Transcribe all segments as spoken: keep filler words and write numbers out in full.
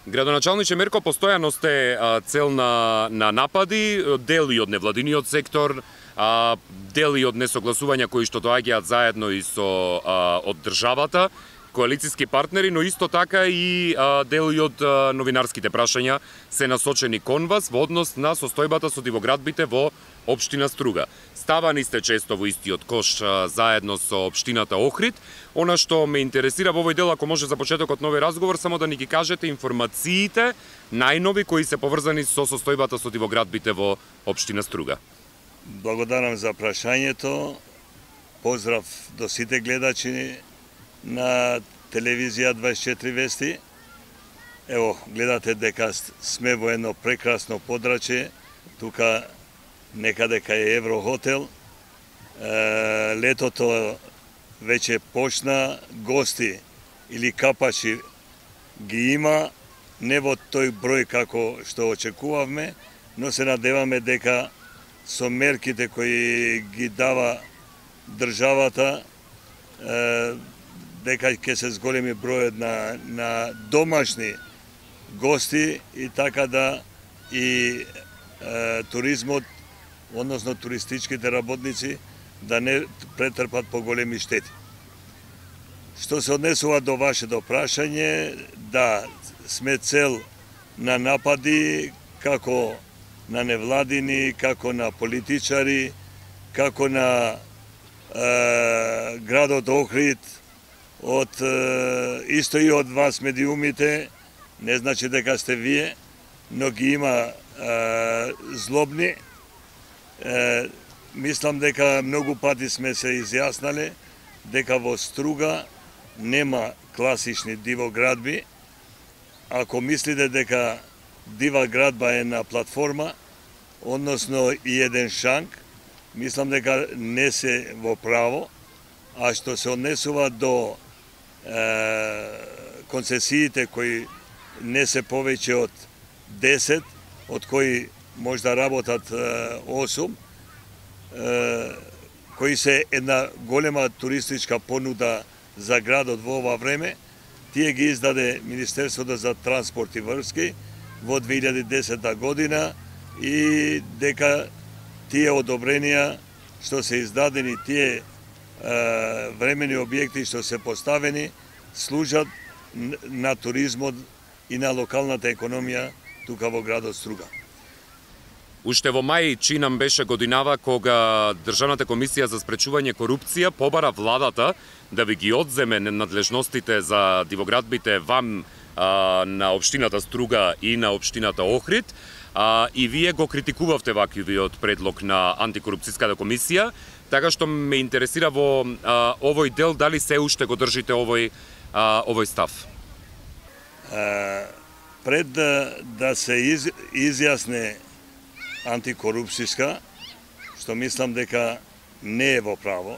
Градоначалниче Мерко, постојано сте цел на, на напади, дел и од невладиниот сектор, а, дел и од несогласувања кои што доаѓаат заедно и со а, од државата, коалициски партнери, но исто така и а, дел и од а, новинарските прашања се насочени кон вас во однос на состојбата со дивоградбите во општина Струга. Ставани сте често во истиот кош а, заедно со општината Охрид. Она што ме интересира во овој дел, ако може за почетокот на овој разговор, само да ни ги кажете информациите најнови кои се поврзани со состојбата со дивоградбите во општина Струга. Благодарам за прашањето. Поздрав до сите гледачи на телевизија дваесет и четири вести. Ево, гледате дека сме во едно прекрасно подрачје. Тука некаде кај Еврохотел. Е, летото веќе почна, гости или капачи ги има, не во тој број како што очекувавме, но се надеваме дека со мерките кои ги дава државата, е, дека ќе се зголеми бројот на, на домашни гости и така да и е, туризмот, односно туристичките работници, да не претрпат поголеми штети. Што се однесува до вашето прашање, да, сме цел на напади како на невладини, како на политичари, како на е, градот Охрид, од е, исто и од вас медиумите, не значи дека сте вие, но ги има е, злобни. Е, Мислам дека многу пати сме се изјаснале дека во Струга нема класични дивоградби. Ако мислите дека дива градба е на платформа, односно и еден шанк, мислам дека не се во право, а што се однесува до е, концесиите кои не се повеќе од десет, од кои може да работат е, осум, кои се една голема туристичка понуда за градот во ова време, тие ги издаде Министерството за транспорт и врски во две илјади и десета година и дека тие одобренија што се издадени, тие е, времени објекти што се поставени, служат на туризмот и на локалната економија тука во градот Струга. Уште во мај чинам беше годинава кога Државната комисија за спречување корупција побара владата да ви ги одземе надлежностите за дивоградбите вам а, на општината Струга и на општината Охрид, а, и вие го критикувавте ваквиот предлог на антикорупцијската комисија, така што ме интересира во а, овој дел дали се уште го држите овој а, овој став. А, пред да, да се из, изјасне антикорупцијска, што мислам дека не е во право,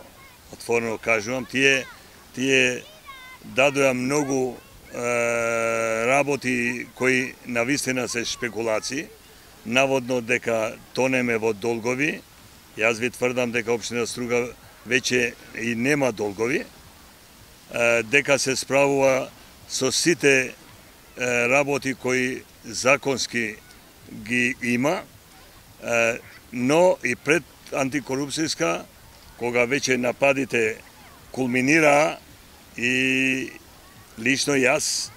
отворено кажувам, тие, тие дадоа многу е, работи кои навистина се шпекулации, наводно дека тонеме во долгови. Јас ви тврдам дека општина Струга веќе и нема долгови, е, дека се справува со сите е, работи кои законски ги има, но и пред антикорупцијска, кога веќе нападите кулминираа и лично јас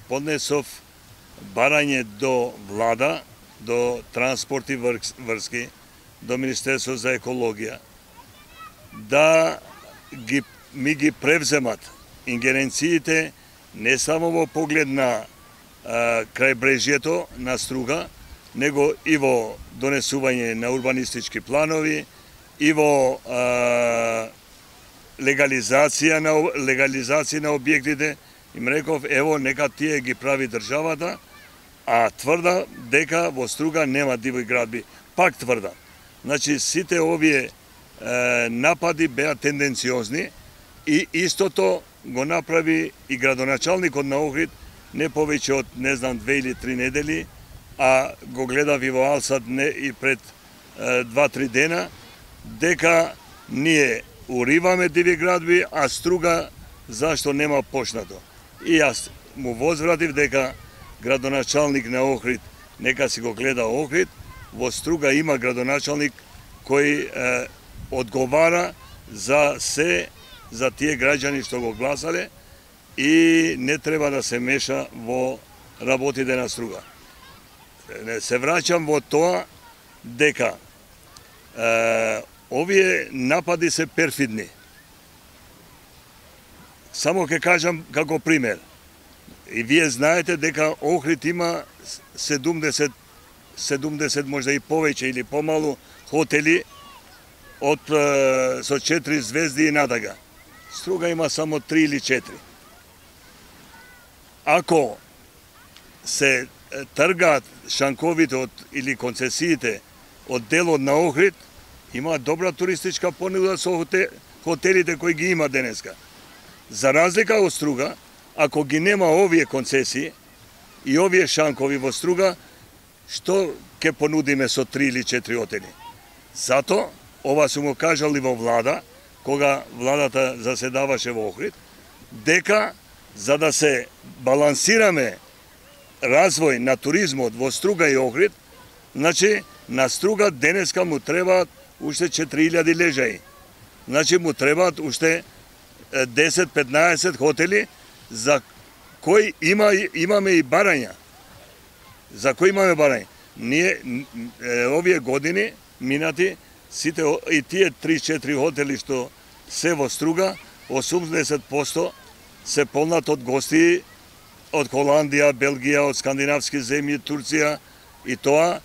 поднесов барање до влада, до транспорт и врски, до Министерство за екологија, да ги, ми ги превземат ингеренциите не само во поглед на крајбрежјето на Струга, него и во донесување на урбанистички планови, и во а, легализација на легализација на објектите. Им реков, ево, нека тие ги прави државата, а тврда дека во Струга нема диви градби. Пак тврда. Значи, сите овие е, напади беа тенденциозни и истото го направи и градоначалникот на Охрид не повеќе од, не знам, две или три недели, а го гледав и во Алсат не и пред два-три дена, дека ние уриваме диви градби, а Струга зашто нема почнато. И јас му возвратив дека градоначалник на Охрид, нека си го гледа Охрид. Во Струга има градоначалник кој е, одговара за се, за тие граѓани што го гласале и не треба да се меша во работите на Струга. Се враќам во тоа дека е, овие напади се перфидни. Само ќе кажам како пример. И вие знаете дека Охрид има седумдесет, седумдесет можда и повеќе или помалу хотели од со четири звезди и надага. Струга има само три или четири. Ако се тргаат шанковите од, или концесиите од делот на Охрид, има добра туристичка понуда со хотелите кои ги има денеска. За разлика од Струга, ако ги нема овие концесии и овие шанкови во Струга, што ќе понудиме со три или четири хотели? Зато, ова сум го кажал и во влада, кога владата заседаваше во Охрид, дека за да се балансираме развој на туризмот во Струга и Охрид, значи на Струга денеска му требаат уште четири илјади лежаи. Значи му требаат уште десет-петнаесет хотели за кои има, имаме и барања. За кои имаме барања. Ние овие години минати сите и тие три-четири хотели што се во Струга, осумдесет проценти се полнат од гости од Холандија, Белгија, од скандинавски земји, Турција, и тоа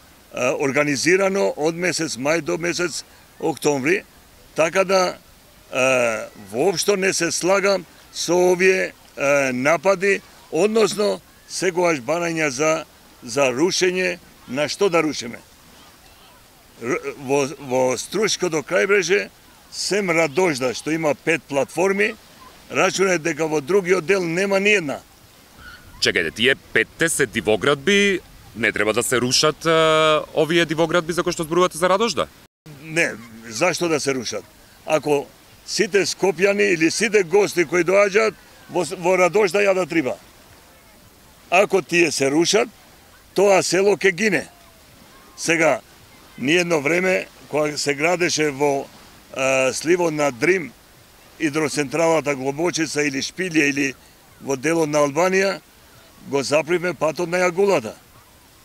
организирано од месец мај до месец октомври, така да воопшто не се слагам со овие напади, односно секогаш барања за за рушење, на што да рушиме. Во, во Струшкото крајбрежје сем Радожда што има пет платформи, рачунај дека во другиот дел нема ни една. Чекајте, тие петте се дивоградби, не треба да се рушат а, овие дивоградби за кои што зборувате за Радожда? Не, зашто да се рушат? Ако сите скопјани или сите гости кои доаѓаат во, во Радожда ја да триба. Ако тие се рушат, тоа село ќе гине. Сега, ни едно време, кога се градеше во а, сливот на Дрим, идроцентралата Глобочица или Шпилје или во делот на Албанија, го запривме патот на Јагулата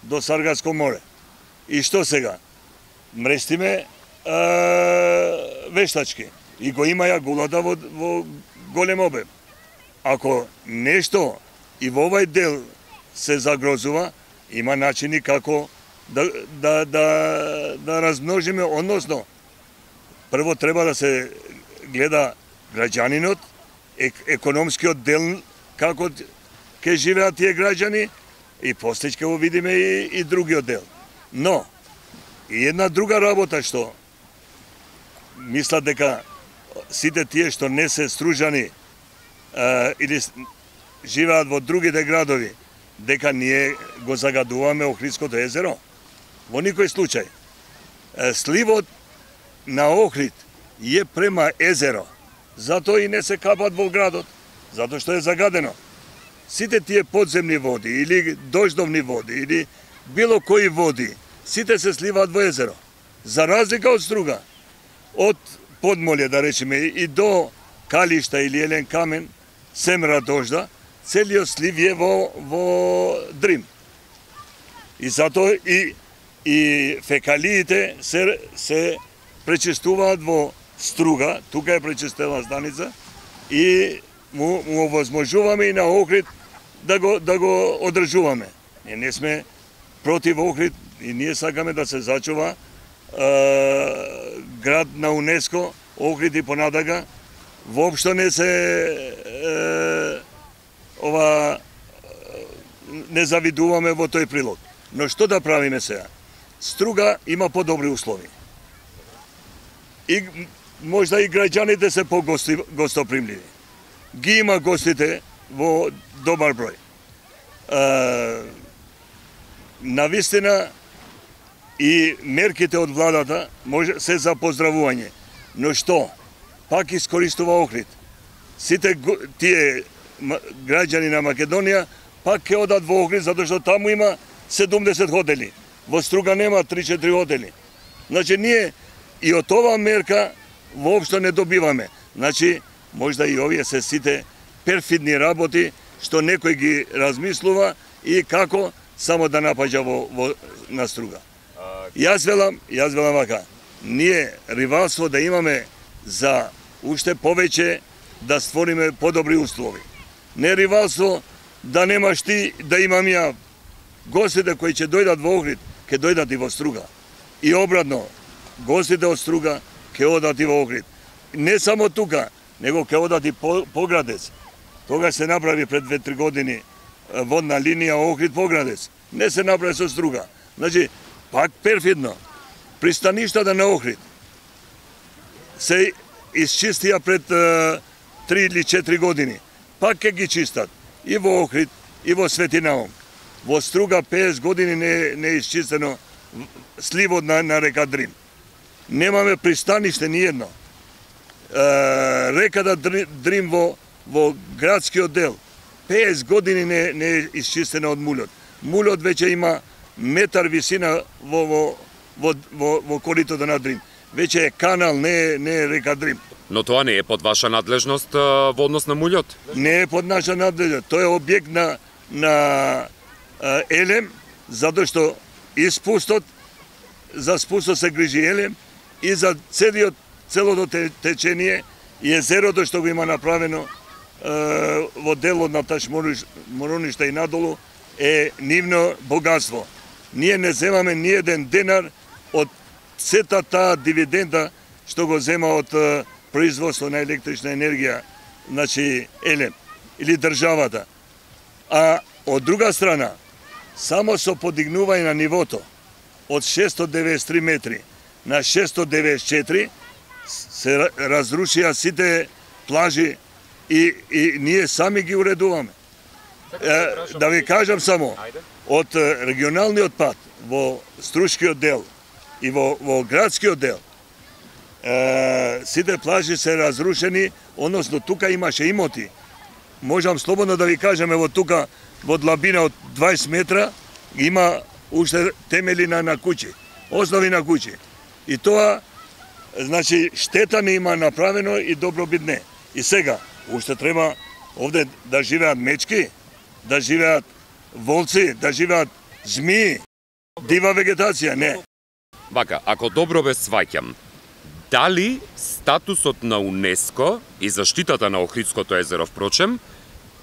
до Саргаско море. И што сега? Мрестиме а, вештачки. И го има Јагулата во, во голем обем. Ако нешто и во овај дел се загрозува, има начини како да, да, да, да размножиме, односно, прво треба да се гледа граѓанинот, ек, економскиот дел, како ќе живеат тие граѓани, и после ќе го видиме и, и другиот дел. Но, и една друга работа што мислат дека сите тие што не се стружани а, или живеат во другите градови, дека ние го загадуваме Охридското езеро. Во никој случај. Сливот на Охрид е према езеро. Затоа и не се капат во градот, затоа што е загадено. Сите тие подземни води или дождовни води или било кои води, сите се сливаат во езеро. За разлика од Струга, од Подмолје, да речеме, и до Калишта или Елен Камен, сем Радожда, целиот слив е во, во Дрим. И затоа и, и фекалиите се, се пречистуваат во Струга, тука е пречистена станица, и му, му возможуваме и на Охрид да го, да го одржуваме. Ние не сме против Охрид и ние сакаме да се зачува е, град на УНЕСКО, Охрид и понатака. Воопшто не се е, ова не завидуваме во тој прилог. Но што да правиме сега? Струга има подобри услови. И можда и граѓаните се по-гостопримливи. Ги има гостите во добар број. Е, навистина и мерките од владата може се за поздравување. Но што? Пак искористува Охрид. Сите тие граѓани на Македонија пак ќе одат во Охрид, затоа што таму има седумдесет хотели. Во Струга нема три-четири хотели. Значи, ние и од ова мерка воопшто не добиваме. Значи, можда и овие се сите перфидни работи што некој ги размислува и како само да напаѓа во, во на Струга. Јас велам, јас велам вака, ние ривалство да имаме за уште повеќе да створиме подобри услови. Не ривалство да немаш ти, да имам ја. Гостите кои ќе дојдат во Охрид, ќе дојдат и во Струга. И обратно, гостите од Струга ќе одат и во Охрид. Не само тука, него ќе одат и по, Поградец. Тогаш се направи пред две-три години водна линија Охрид-Поградец. Не се направи со Струга. Значи, пак перфидно. Пристаништата на Охрид се исчистија пред три или четири години. Пак ќе ги чистат и во Охрид, и во Свети Наум. Во Струга петдесет години не, не е исчистено сливот на, на река Дрим. Немаме пристаниште ни едно. Е, реката Дрим во, во градскиот дел петдесет години не, не е исчистено од мулот. Мулот веќе има метар висина во, во, во, во, во коритото на Дрим. Веќе е канал, не е, не е река Дрим. Но тоа не е под ваша надлежност во однос на мулјот? Не е под наша надлежност. Тоа е објект на, на Елем, затоа што и спустот, за спустот се грижи Елем и за целиот, целото течение и езерото што го има направено е, во делот на Ташморуништа и надолу е нивно богатство. Ние не земаме ни еден денар од сета таа дивиденда што го зема од е, производство на електрична енергија, значи Елем, или државата. А од друга страна, само со подигнување на нивото од шестстотини деветдесет и три метри на шестстотини деветдесет и четири се разрушија сите плажи и, и ние сами ги уредуваме. Е, да ви кажам само, од регионалниот пат во Струшкиот дел и во, во градскиот дел, е, сите плажи се разрушени, односно тука имаше имоти. Можам слободно да ви кажам, ево тука во длабина од дваесет метра има уште темели на, на куќи, основи на куќи. И тоа, значи, штета не има направено и добробит не. И сега, уште треба овде да живеат мечки, да живеат волци, да живеат змии, дива вегетација, не. Вака, ако добро ве сваќам, дали статусот на УНЕСКО и заштитата на Охридското езеро, впрочем,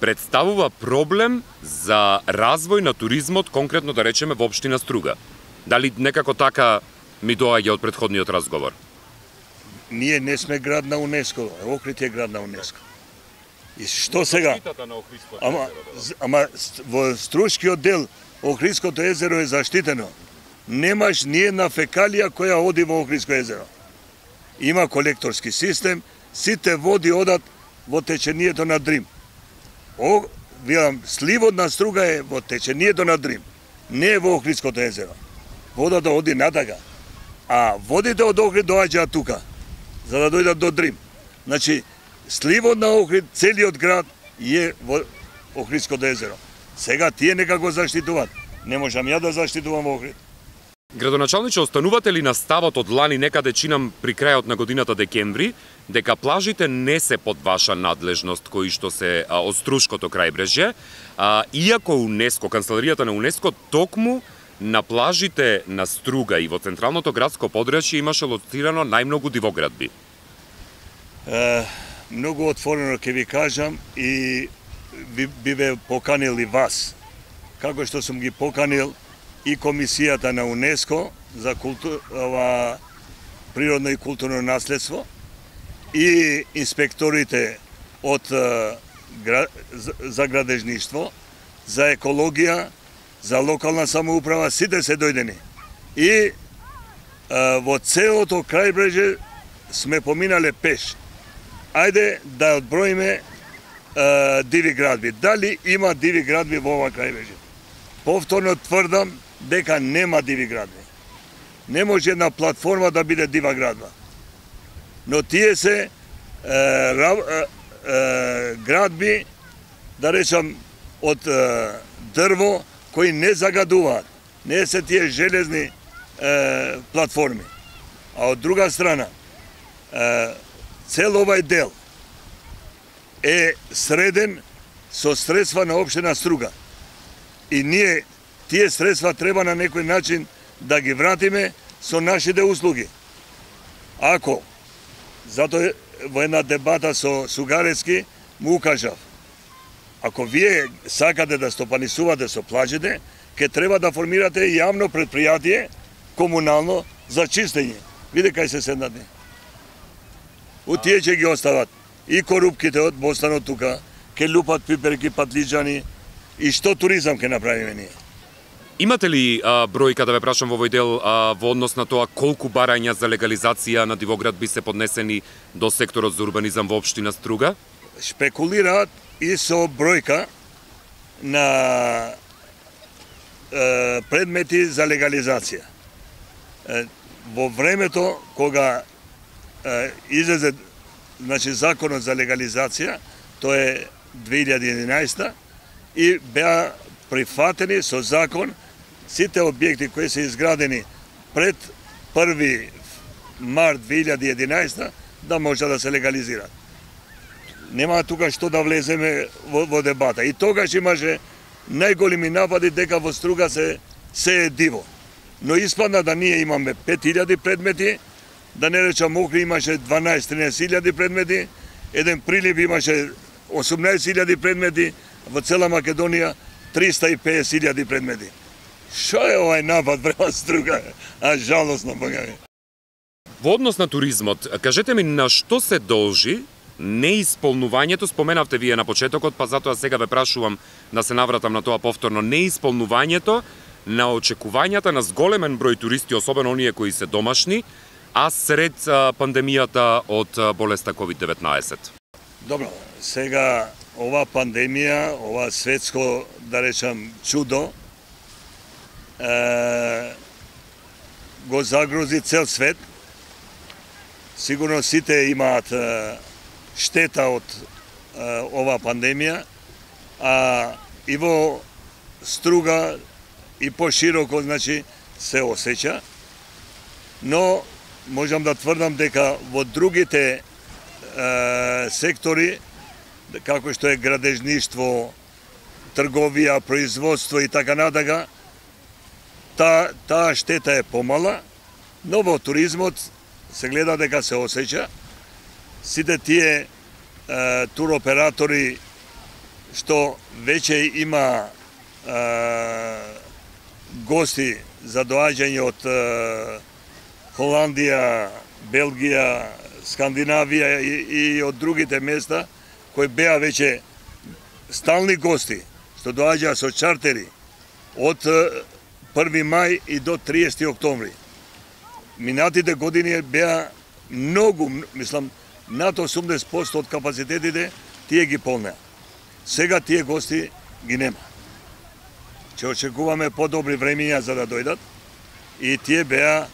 представува проблем за развој на туризмот, конкретно да речеме во општина Струга? Дали некако така ми доаѓа од претходниот разговор? Ние не сме град на УНЕСКО, Охрид е град на УНЕСКО. И што сега? Ама, ама во Струшкиот дел Охридското езеро е заштитено. Немаш ни една фекалија која оди во Охридско езеро. Има колекторски систем, сите води одат во течението на Дрим. О, видам, сливот на Струга е во течението на Дрим, не е во Охридското езеро. Водата оди натака, а водите од Охрид доаѓаат тука, за да дојдат до Дрим. Значи, сливот на Охрид, целиот град е во Охридското езеро. Сега тие некако заштитуваат. Не можам ја да заштитувам Охрид. Градоначалниче, останувате ли на ставот од лани некаде чинам при крајот на годината декември, дека плажите не се под ваша надлежност кои што се а, од Струшкото крајбрежје, а, иако УНЕСКО, канцеларијата на УНЕСКО, токму на плажите на Струга и во централното градско подрачје имаше лоцирано најмногу дивоградби? Е, многу отворено ќе ви кажам и би, би ве поканил и вас, како што сум ги поканил и комисијата на УНЕСКО за култур, ова, природно и културно наследство и инспекторите од гра, за градежништво, за екологија, за локална самоуправа, сите се дојдени. И а, во целото крајбреже сме поминале пеш. Ајде да одброиме а, диви градби. Дали има диви градби во ова крајбреже? Повторно тврдам дека нема диви градби. Не може една платформа да биде дива градба. Но тие се е, ра, е, е, градби, да речам, од е, дрво кои не загадуваат, не се тие железни е, платформи. А од друга страна, е, цел овај дел е среден со средства на општина Струга. И ние тие средства треба на некој начин да ги вратиме со нашите услуги. Ако, затоа во една дебата со Сугарецки му укажав, ако вие сакате да стопанисувате со плажите, ке треба да формирате јавно предпријатие, комунално, за чистење. Виде кај се седнат. У тие ќе ги остават и корупките од Бостанот тука, ке лупат пиперки, патлиџани, и што туризам ке направиме ние. Имате ли а, бројка, да ве прашам во овој дел, а, во однос на тоа колку барања за легализација на Дивоград би се поднесени до секторот за урбанизам во општина Струга? Шпекулираат и со бројка на е, предмети за легализација. Е, во времето кога е, излезе, значи, законот за легализација, тоа е две илјади и единаесета, и беа прифатени со закон сите објекти кои се изградени пред први март две илјади и единаесета да може да се легализираат. Нема тука што да влеземе во, во дебата. И тогаш имаше најголеми напади дека во Струга се, се е диво. Но испадна да ние имаме пет илјади предмети, да не речам Охри имаше дванаесет-тринаесет илјади предмети, еден Прилип имаше осумнаесет илјади предмети, во цела Македонија триста и песет илјади предмети. Шо е овај напад према Струга? А жалосно, бога ми. Во однос на туризмот, кажете ми на што се должи неисполнувањето, споменавте вие на почетокот, па затоа сега ве прашувам да се навратам на тоа повторно, неисполнувањето на очекувањата на зголемен број туристи, особено оние кои се домашни, а сред пандемијата од болеста ковид деветнаесет. Добро, сега ова пандемија, ова светско, да речам, чудо, е, го загрози цел свет. Сигурно сите имаат е, штета од е, ова пандемија, а и во Струга и пошироко, значи, се осеќа, но можам да тврдам дека во другите е, сектори, како што е градежништво, трговија, производство и така натака, та, таа штета е помала, но во туризмот се гледа дека се осеќа. Сите тие е, туроператори што веќе има е, гости за доаѓање од е, Холандија, Белгија, Скандинавија и, и од другите места, кои беа веќе стални гости, што доаѓаа со чартери од први мај и до триесети октомври. Минатите години беа многу, мислам, над осумдесет проценти од капацитетите тие ги полнеа. Сега тие гости ги нема. Че очекуваме подобри времиња за да дојдат и тие беа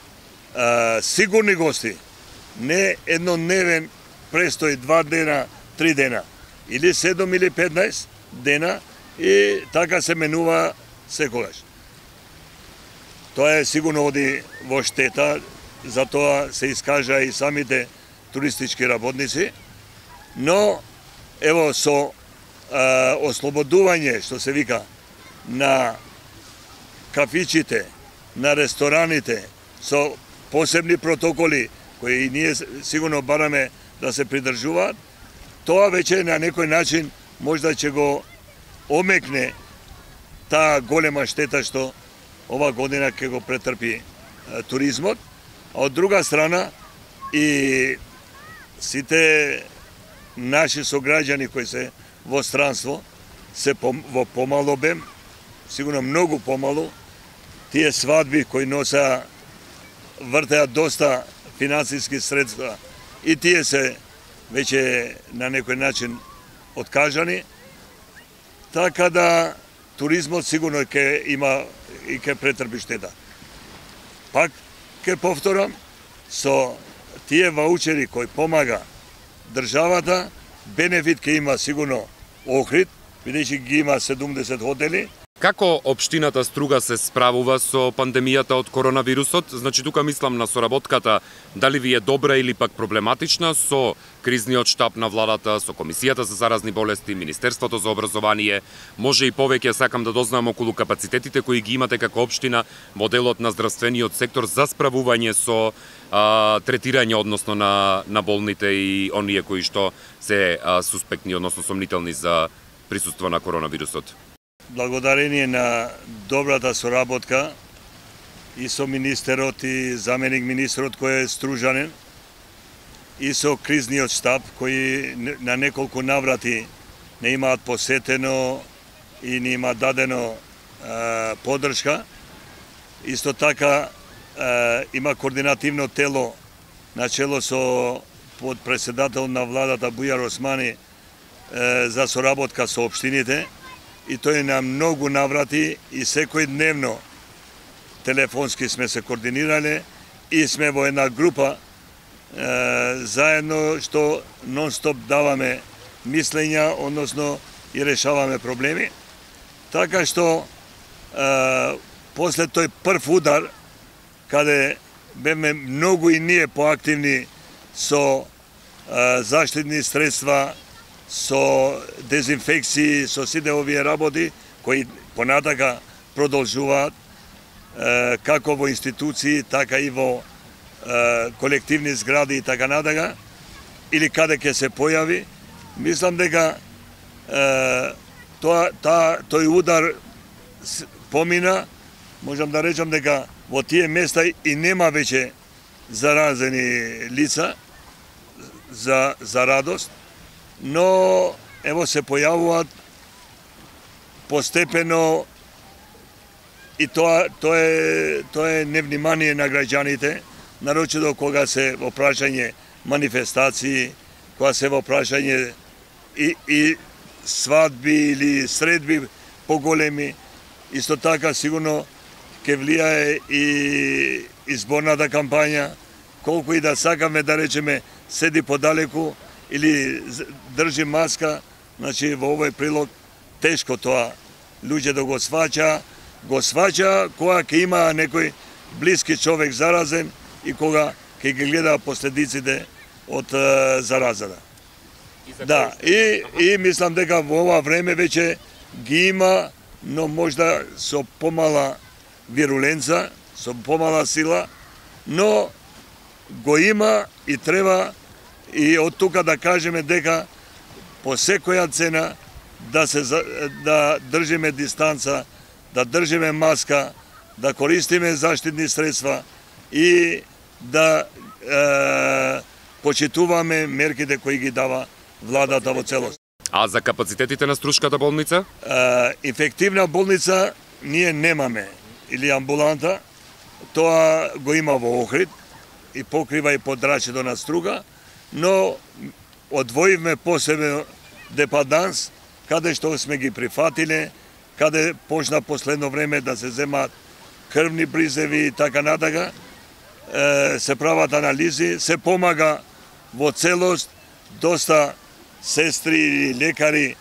а, сигурни гости, не еднодневен престој два дена, три дена, или седум или петнаесет дена и така се менува секогаш. Тоа е сигурно оди во штета, затоа се искажа и самите туристички работници, но ево со а, ослободување, што се вика, на кафичите, на рестораните, со посебни протоколи, кои и ние сигурно бараме да се придржуваат, тоа веќе на некој начин можда ќе го омекне таа голема штета што ова година ќе го претрпи е, туризмот, а од друга страна и сите наши сограѓани кои се во странство се пом, во помал обем, сигурно многу помалу, тие свадби кои носа вртеа доста финансиски средства и тие се веќе на некој начин откажани, така да туризмот сигурно ќе има и ќе претрпи штета. Пак ќе повторам, со тие ваучери кои помага државата, бенефит ќе има сигурно Охрид, бидејќи ги има седумдесет хотели, Како општината Струга се справува со пандемијата од коронавирусот? Значи, тука мислам на соработката, дали ви е добра или пак проблематична со кризниот штаб на владата, со Комисијата за заразни болести, Министерството за образование. Може и повеќе сакам да дознам околу капацитетите кои ги имате како општина во делот на здравствениот сектор за справување со а, третирање, односно на, на болните и оние кои што се а, суспектни, односно сомнителни за присуство на коронавирусот. Благодарение на добрата соработка и со министерот и заменик министерот кој е стружанин и со кризниот штаб кои на неколку наврати не имаат посетено и не има дадено е, поддршка. Исто така е, има координативно тело на чело со подпредседател на владата Бујар Османи е, за соработка со општините. И тој на многу наврати и секој дневно телефонски сме се координирале и сме во една група е, заедно што нон-стоп даваме мислења, односно и решаваме проблеми. Така што е, после тој прв удар, каде беме многу и ние поактивни со е, заштитни средства, со дезинфекции, со сите овие работи, кои понатака продолжуваат, е, како во институции, така и во е, колективни згради и така натака, или каде ќе се појави. Мислам дека е, тоа, та, тој удар помина, можам да речам дека во тие места и нема веќе заразени лица, за, за радост, но ево се појавуваат постепено и тоа тоа е тоа е невнимание на граѓаните, нарочито кога се во прашање манифестации, кога се во прашање и, и свадби или средби поголеми. Исто така сигурно ќе влијае и изборната кампања, колку и да сакаме да речеме седи подалеку или држи маска, значи во овој прилог тешко тоа луѓе да го сваќа, го сваќа кога ќе има некој блиски човек заразен и кога ќе ги гледа последиците од е, заразата. И да, и, и мислам дека во ова време веќе ги има, но можда со помала вируленца, со помала сила, но го има и треба и од тука да кажеме дека по секоја цена да се да држиме дистанца, да држиме маска, да користиме заштитни средства и да е, почитуваме мерките кои ги дава владата во целост. А за капацитетите на Струшката болница? Е, инфективна болница ние немаме, или амбуланта, тоа го има во Охрид и покрива и подрачето на Струга, но одвоивме посебно депаданс, каде што сме ги прифатиле, каде почна последно време да се земаат крвни бризеви и така натака, се прават анализи, се помага во целост, доста сестри и лекари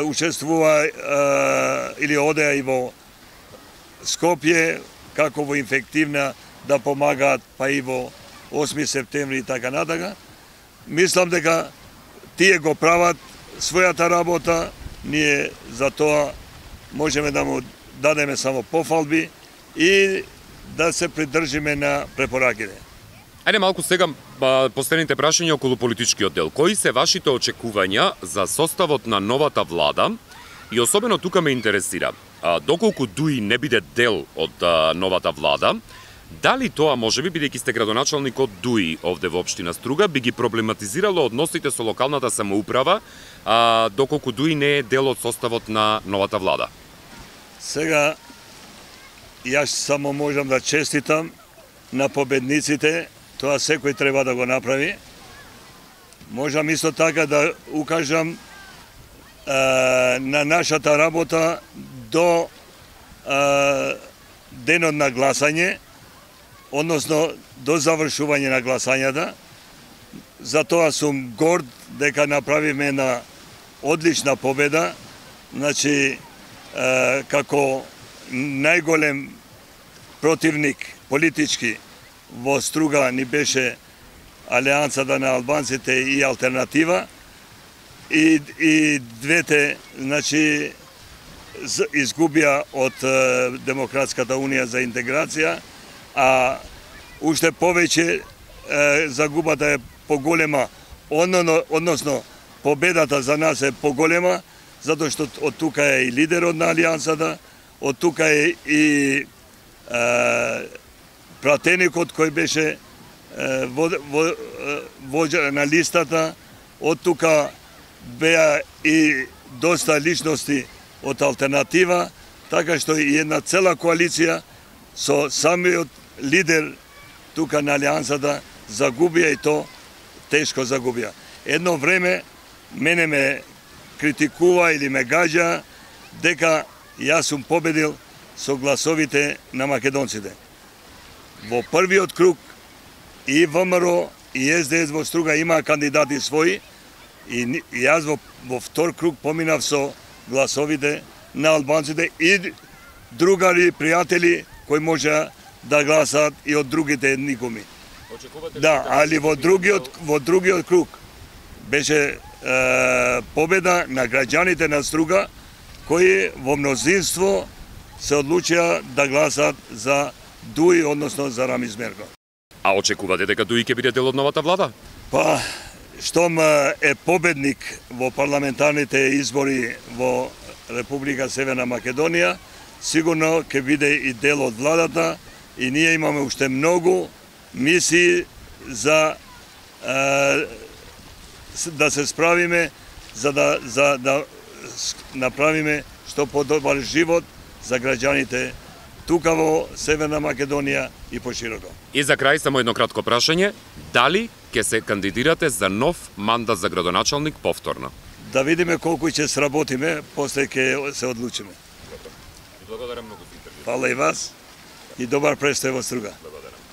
учествува или одеа и во Скопје, како во инфективна да помагаат, па и во осми септември и така натака. Мислам дека тие го прават својата работа, ние за тоа можеме да му дадеме само пофалби и да се придржиме на препораките. Ајде малку сега последните прашања околу политичкиот дел. Кои се вашите очекувања за составот на новата влада? И особено тука ме интересира, доколку Дуи не биде дел од новата влада, дали тоа можеби, бидејќи сте градоначалник од Дуи овде во општина Струга, би ги проблематизирало односите со локалната самоуправа, а, доколку Дуи не е дел од составот на новата влада? Сега, јас само можам да честитам на победниците, тоа секој треба да го направи. Можам исто така да укажам е, на нашата работа до е, денот на гласање, односно до завршување на гласањата. Затоа сум горд дека направиме една одлична победа. Значи, како најголем противник политички во Струга ни беше Алијансата на албанците и Алтернатива, и, и двете, значи, изгубија од Демократската унија за интеграција, а уште повеќе загубата е поголема, односно победата за нас е поголема, затоа што од тука е и лидерот на Алијансата, од тука е и е, пратеникот кој беше е, во, во, воđа на листата, од тука беа и доста личности од Алтернатива, така што и една цела коалиција со самиот лидер тука на Алијансата загубија, и то тешко загубија. Едно време мене ме критикува или ме гаѓа дека јас сум победил со гласовите на македонците. Во првиот круг и ВМРО и ес де ес во Струга имаа кандидати своји, и јас во, во втор круг поминав со гласовите на албанците и другари, пријатели кои можеа да гласат и од другите етникуми. Да, али во другиот во другиот круг беше е, победа на граѓаните на Струга, кои во мнозинство се одлучија да гласат за Дуи, односно за Рамиз Мерко. А очекувате дека Дуи ќе биде дел од новата влада? Па, штом е победник во парламентарните избори во Република Северна Македонија, сигурно ќе биде и дел од владата, и ние имаме уште многу мисии за е, да се справиме, за да, за да направиме што подобар живот за граѓаните тука во Северна Македонија и пошироко. И за крај само едно кратко прашање, дали ќе се кандидирате за нов мандат за градоначалник повторно? Да видиме колку ќе сработиме, после ќе се одлучиме. Благодарам многу за интервју. Фала и вас и добар престој во Струга. Благодарам.